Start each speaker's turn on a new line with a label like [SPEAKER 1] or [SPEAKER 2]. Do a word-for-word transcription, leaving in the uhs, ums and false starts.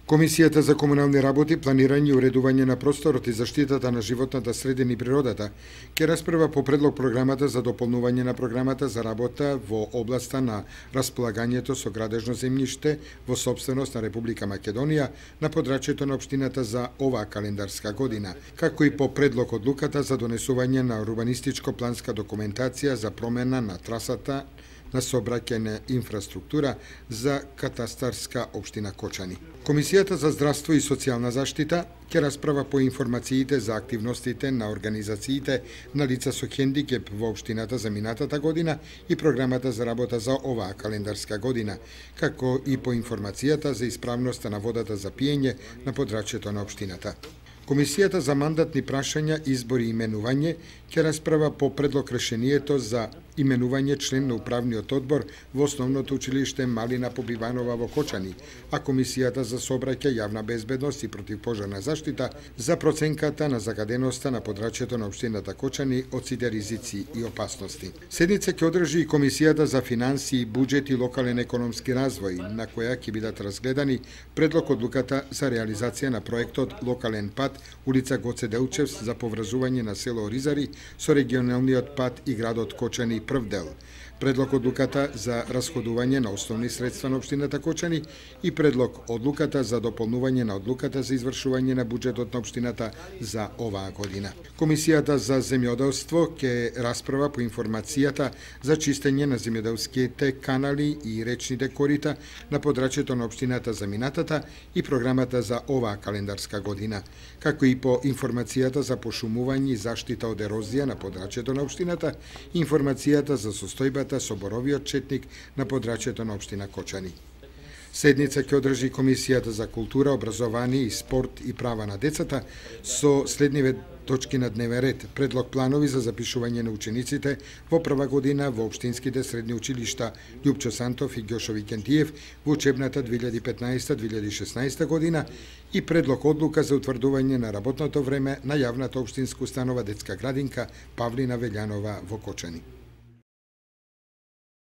[SPEAKER 1] Комисијата за комунални работи, планирање и уредување на просторот и заштитата на животната средина и природата ќе расправа по предлог програмата за дополнување на програмата за работа во областа на располагањето со градежно земјиште во сопственост на Република Македонија на подрачјето на општината за оваа календарска година, како и по предлог одлуката за донесување на урбанистичко-планска документација за промена на трасата на сообраќајна инфраструктура за катастарска општина Кочани. Комисијата за здравство и социјална заштита ќе расправа по информациите за активностите на организациите на лица со хендикеп во општината за минатата година и програмата за работа за оваа календарска година, како и по информацијата за исправноста на водата за пиење на подрачјето на општината. Комисијата за мандатни прашања, избори и именување ќе расправа по предлог решението за именување член на управниот одбор во Основното училиште Малина Побиванова во Кочани, а Комисијата за сообраќај, јавна безбедност и противпожарна заштита за проценката на загаденоста на подрачјето на општината Кочани од сите ризици и опасности. Седница ќе одржи и Комисијата за финансии, буџет и локален економски развој, на која ќе бидат разгледани предлог одлуката за реализација на проектот Локален пат улица Гоце Делчевс за поврзување на село Оризари со регионалниот пат и градот Кочани прв дел, предлог одлуката за расходување на основни средства на општината Кочани и предлог одлуката за дополнување на одлуката за извршување на буџетот на општината за оваа година. Комисијата за земјоделство ќе расправа по информацијата за чистење на земјоделските канали и речните корита на подрачјето на општината за минатата и програмата за оваа календарска година, како и по информацијата за пошумување и заштита од ерозија на подрачјето на општината и информацијата за состојбата со боровиот четник на подрачјето на општина Кочани. Седница ќе одржи Комисијата за култура, образование и спорт и права на децата со следниве точки на дневен ред: предлог планови за запишување на учениците во прва година во општинските средни училишта Љупчо Сантов и Ѓошо Викентиев во учебната две илјади и петнаесета две илјади и шеснаесета година и предлог одлука за утврдување на работното време на јавната општинска установа детска градинка Павлина Велјанова во Кочани.